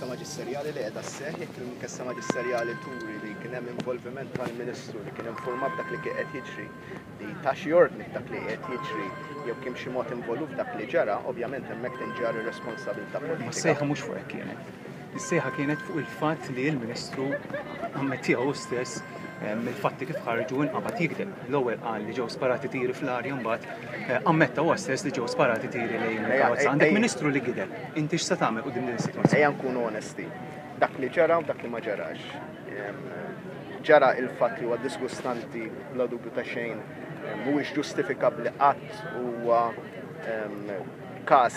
maġisterjali li qiegħda sseħħ, jekk l-inkjesta maġisterjali turi li kien hemm involviment tal-Ministru li kien informat dak li kien qed jiġri, li ta xi ordni f'dak li qiegħed jiġri jew kien b'xi mod involut f'dak li ġara, ovvjament hemmhekk tinġarr ir-responsabilità Ma politika. s-sejħa mhux fuq hekk kienet. Is-sejħa kienet fuq il-fatt li l-Ministru ammettieha hu stess il-fatti kif ħarġu inqabad jigdeb. L-ewwel qal li ġew sparati tiri fl-arja mbagħad eh, ammetta huwa stess li ġew sparati tiri lejn il-karozza. Għandek Ministru li gideb. Inti x'se tagħmel quddiem din is-sitwazzjoni? Ejja nkunu onesti. Dak li ġara u dak li ma ġarax. Ġara il-fatt li huwa disgustanti bla dubju ta' xejn mhuwiex ġustifikabbli qatt huwa każ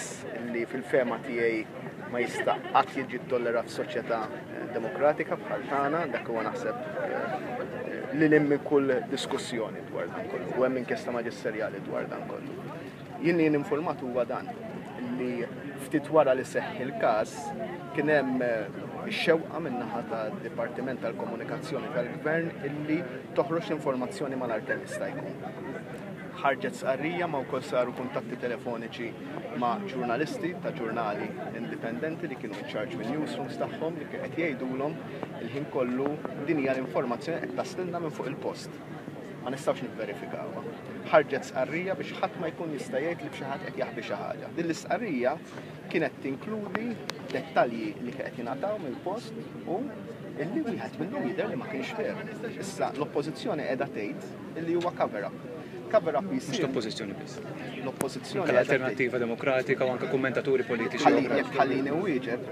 li fil-fehma tiegħi ma jista' qatt jiġi ttollerat f'soċjetà eh, demokratika bħal tagħna, dak huwa naħseb eh, li lil minn kull diskussjoni dwar dan kollu u hemm inkjesta maġisterjali dwar dan kollu. Jien li informat huwa dan li ftit wara li seħħ il-każ kien hemm eh, xewqa min-naħa tad-Dipartiment tal-Komunikazzjoni tal-Gvern illi toħroġ l-informazzjoni malajr kemm jista' jkun. Ħarġet stqarrija ma wkoll saru kuntatti telefoniċi ma' ġurnalisti ta' ġurnali indipendenti li kienu in charge minn newsrooms tagħhom li qed jgħidulhom il-ħin kollu din hija l-informazzjoni qed taslilna minn fuq il-post. Ma nistgħux nivverifikawha. Ħarġet stqarrija biex ħadd ma jkun jista' jgħid li b'xi ħadd qed jaħbi xi ħaġa. Din l-istqarrija kienet tinkludi dettalji li qed jingħataw mill-post u illi wieħed minnhom jidher li ma kienx veru. Issa l-oppożizzjoni qiegħda tgħid illi huwa cover-up. Cover-up Mhux jsir l-oppożizzjoni biss. L-oppożizzjoni Anke l-Alternattiva Demokratika u anke kummentaturi politiċi Ħalli oħra. jekk ħallini wieġeb,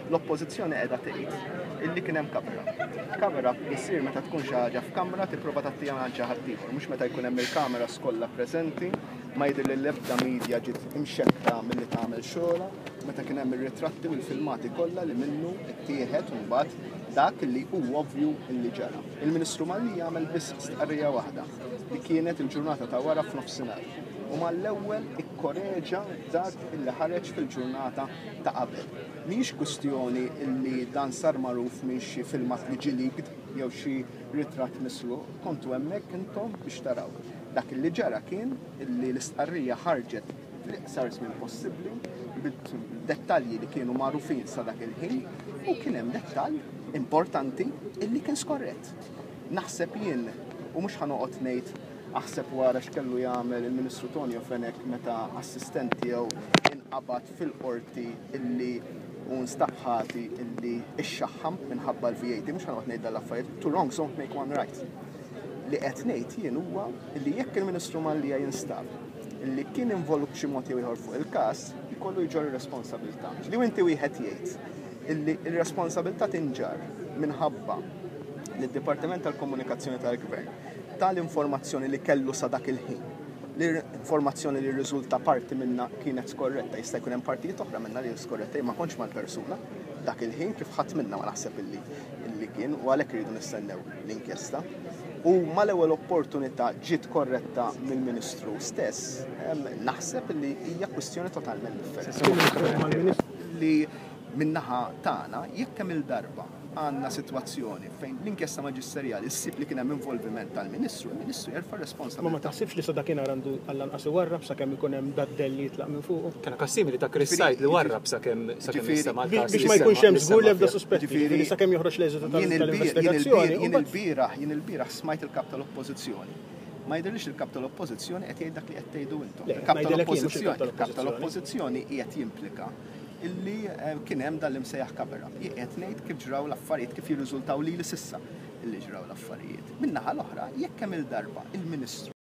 l-oppożizzjoni qiegħda tgħid illi kien hemm cover-up. Cover-up isir meta tkun xi ħaġa f'kamra tipprova tgħattiha minn xi ħadd ieħor, mhux meta jkun hemm il-kamera kollha preżenti, ma jidher li l-ebda media ġiet imxekkla milli tagħmel xogħolha, meta kien hemm ir-ritratti u l-filmati kollha li minnu ttieħed mbagħad dak li hu ovvju li ġara. Il-Ministru Mallia għamel biss stqarrija waħda li kienet il-ġurnata ta' wara f'nofsinhar u mal-ewwel ikkoreġa dak illi ħareġ fil-ġurnata ta' qabel. Mhijiex kwistjoni illi dan sar magħruf minn xi filmat li ġie leaked jew xi ritratt misruq, kontu hemmhekk intom biex taraw. Dak illi ġara kien illi l-istqarrija ħarġet fl-iqsar żmien possibbli bid-dettalji li kienu magħrufin sa dak il-ħin u kien hemm dettall importanti illi kien skorrett. Naħseb jien, u mhux ħa noqgħod ngħid aħseb wara x'kellu jagħmel il-Ministru Tonio Fenech meta assistent tiegħu inqabad fil-qorti illi u nstab ħati illi ixxaħħam minħabba l-VAT, mhux ħa noqgħod ngħid dal-affarijiet, two wrongs don't make one right. Li qed ngħid jien huwa illi jekk il-Ministru Mallia jinstab illi kien involut b'xi mod jew ieħor fuq il-każ, ikollu jġorr ir-responsabilità. Li inti wieħed jgħid illi r-responsabilità tinġarr minħabba li d-Dipartiment tal-Komunikazzjoni tal-Gvern tal-informazzjoni li kellu sa dak il-ħin, l-informazzjoni li rriżulta parti minna kienet skorretta, jista' jkun hemm partijiet oħra minna li skorretta, jien ma kontx mal-persuna dak il-ħin kif ħadd minna ma naħseb illi illi kien u għalhekk irridu nistennew l-inkjesta. U mal-ewwel opportunità ġiet korretta mill-Ministru stess, naħseb li hija kwistjoni totalment differenti. Li min-naħa tagħna jekk kemm il-darba għandna sitwazzjoni fejn l-inkjesta maġisterjali ssib li kien hemm involviment tal-Ministru, il-Ministru jerfa' Ma ma responsabilità. taħsibx li sa dakinhar għandu għall-anqas iwarrab sakemm ikun hemm dad-dell li jitlaq minn fuqu? Kena każ simili ta' Chris Said li warrab sakemm sakemm Ġifieri- nistema' l-każ Biex li ma jkunx semma- hemm li żgur semma l-ebda fih. suspetti, Ġifieri- ġifieri sakemm joħroġ l-eżitu Jien il-bieraħ tal-investigazzjoni. jien il-bieraħ jien il-bieraħ smajt il-kap tal-Oppożizzjoni. Ma jidhirlix il-kap tal-Oppożizzjoni qed jgħid dak li qed tgħidu intom. Le, Il-kap ngħidilek jien, mhux il-kap tal-Oppożizzjoni, il-kap tal-Oppożizzjoni. tal-Oppożizzjoni qiegħed jimplika illi kien hemm dan l-imsejjaħ cover-up. Jien qed ngħid kif ġraw l-affarijiet, kif jirriżultaw lili s'issa illi ġraw l-affarijiet. Min-naħa l-oħra, jekk hemm il-darba il-Ministru.